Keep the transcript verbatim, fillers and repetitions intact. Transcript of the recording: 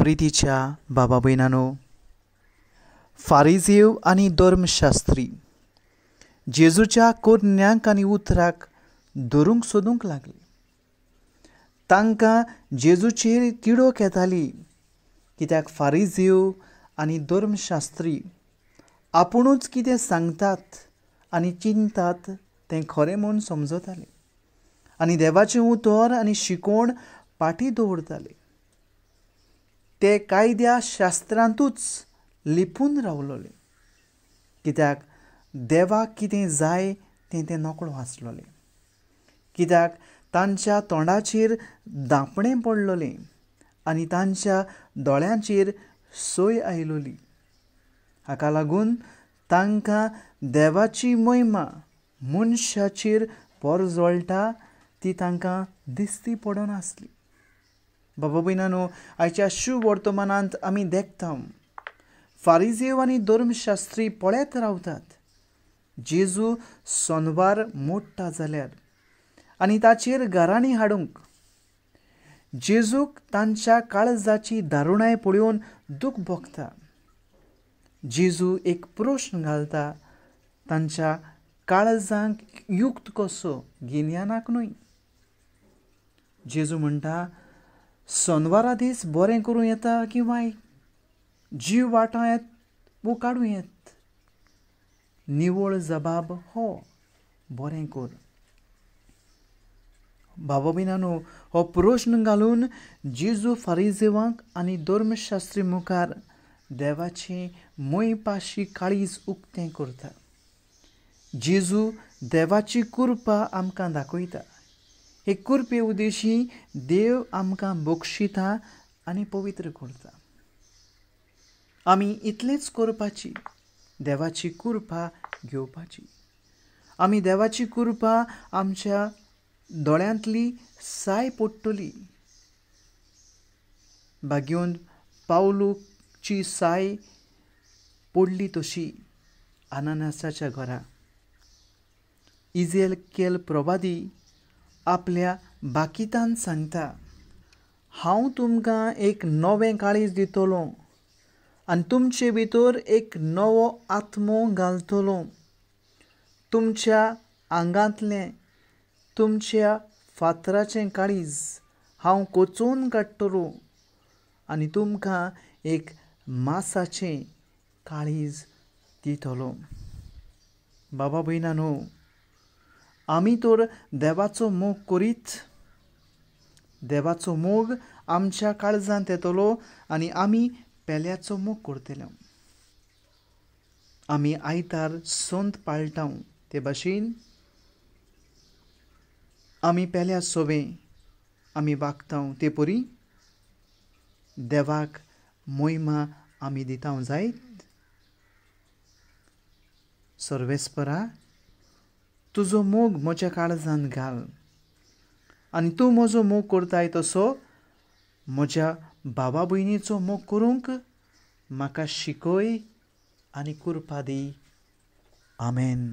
प्रितीच्या बाबा भयणांनो, फारिजेव आनी धर्मशास्त्री जेजूच्या कोरन्यांक आनी उतराक धरूंक सोदूंक लागले. तांकां जेजूचेर तिडक येताली, कित्याक फारिजेव आनी धर्मशास्त्री आपुणूच कितें सांगतात आनी चिंतात तें खरें म्हूण समजताले आनी देवाचें उतर आनी शिकोवण पाटी दवरताले. ते कायद्या शास्त्रांतूच लिपून रावलोले, कित्याक देवाक कितें जाय तें ते नकळो आसलोले, कित्याक तांच्या तोंडाचेर दापणें पडलोलें आनी तांच्या दोळ्यांचेर सोय आयलोली. हाका लागून तांकां देवाची महिमा मनशाचेर परजळटा ती तांकां दिसती पडनासली. बाबा भयणांनो, आयच्या शुभ वर्तमानांत आमी देखता फारिजेव आनी धर्मशास्त्री पळयत रावतात जेजू सोनवार मोडटा जाल्यार आनी ताचेर गाराणी हाडूंक. जेजूक तांच्या काळजाची दारुणाय पळोवन दूख भोगता. जेजू एक प्रश्न घालता तांच्या काळजांक युक्त कसो, गिन्यानाक न्हय. जेजू म्हणटा, सोनवारा दीस बरें करूं येता की वायट, जीव वाटां येत वो काडूं येत? निवळ जबाब हो, बरें कर. बाबा भयणांनो, हो प्रश्न घालून जेजू फारिजेवांक आनी धर्मशास्त्री मुखार देवाचें मोयपाशी काळीज उक्तें करता. जेजू देवाची कृपा आमकां दाखयता. हे कृपे उद्देशी देव आमकां बक्षिता आनी पवित्र करता. आमी इतलेंच करपाची, देवाची कृपा घेवपाची. आमी देवाची कृपा आमच्या दोळ्यांतली साय पडटली. भाग्योन पावलूची साय पडली तशी अनानासाच्या घरा. इजेल केल प्रवादी आपल्या बाकितान सांगता, हांव तुमकां एक नवें काळीज दितलो आनी तुमचे भितर एक नवो आत्मो घालतलो. तुमच्या आंगांतलें तुमच्या फातराचें काळीज हांव कोचोवन काडटलो आनी तुमकां एक मासाचें काळीज दितलो. बाबा भयणांनो, आमी तर देवाचो मोग करीत देवाचो मोग आमच्या काळजांत येतलो आनी आमी पेल्याचो मोग करतले. आमी आयतार संत पाळटा ते भाशेन आमी पेल्या सोबें आमी वागता ते परी देवाक मोहिमा आमी दिता जायत. सर्वेस्परा, तुजो मोग म्हज्या काळजांत घाल आनी तूं म्हजो मोग करताय तसो म्हज्या भावा भयणीचो मोग करूंक म्हाका शिकय आनी कृपा दी. आमेन.